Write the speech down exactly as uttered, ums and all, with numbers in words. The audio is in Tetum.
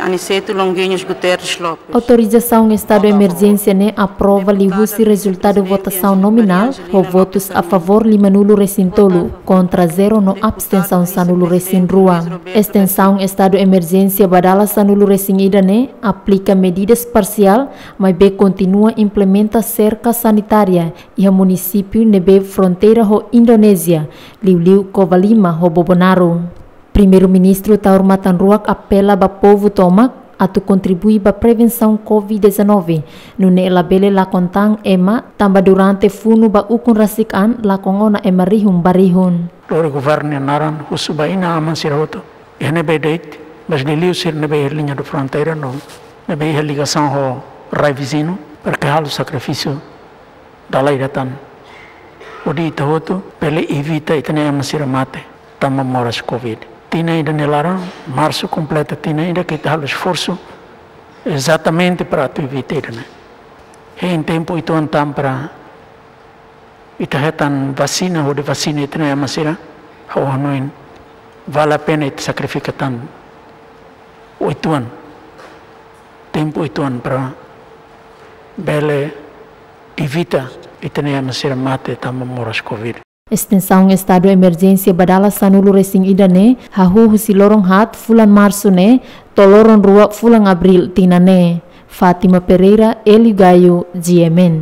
Aniceto Longuinhos Guterres Lopes. Autorizasaun estadu emerjénsia ne'e aprova liuhusi rezultadu votasaun nominál, ho votus a favór lima nulu resin tolu, kontra zero no abstensaun sanulu resin rua. Estensaun estadu emerjénsia ba dala sanulu resin ida ne'e aplika medidas parsiál, maibé kontinua implementa serka sanitária iha munisípiu ne'ebé fronteira ho Indonézia, liuliu Covalima ho Bobonaro. Primeiru-Ministru Taur Matan Ruak apela ba povu tomak atu kontribui ba prevensaun covid dezanove, nune'e labele lakon tan ema, tanba durante funu ba ukun rasik an lakon ona ema rihun ba rihun. Lori governu nia naran, husu ba inan-aman sira hotu, iha ne'ebé de'it, mas liuliu sira ne'ebé iha liña de fronteira no ne'ebé iha ligasaun ho rai viziñu, para ke halo sakrifísiu dala ida tan. Hodi ita hotu bele evita ita-nia ema sira mate tanba moras covid. Tinan ida nia laran, marsu kompleta tinan ida ke ita halo esforsu ezatamente para atu evita ida-ne'e. Hein tempu uitoan tan para ita hetan vasina, hodi vasina ita-nia ema sira, ha'u hanoin vale a pena ita sakrifika tan uitoan, tempu uitoan para bele evita ita-nia ema sira mate tanba moras covid. Estensaun estadu emerjénsia ba dala sanulu resin ida ne'e hahú husi loron haat fulan marsu ne'e to'o loron rua fulan abríl tinan ne'e. Fátima Pereira, Hélio Gaio, G M N.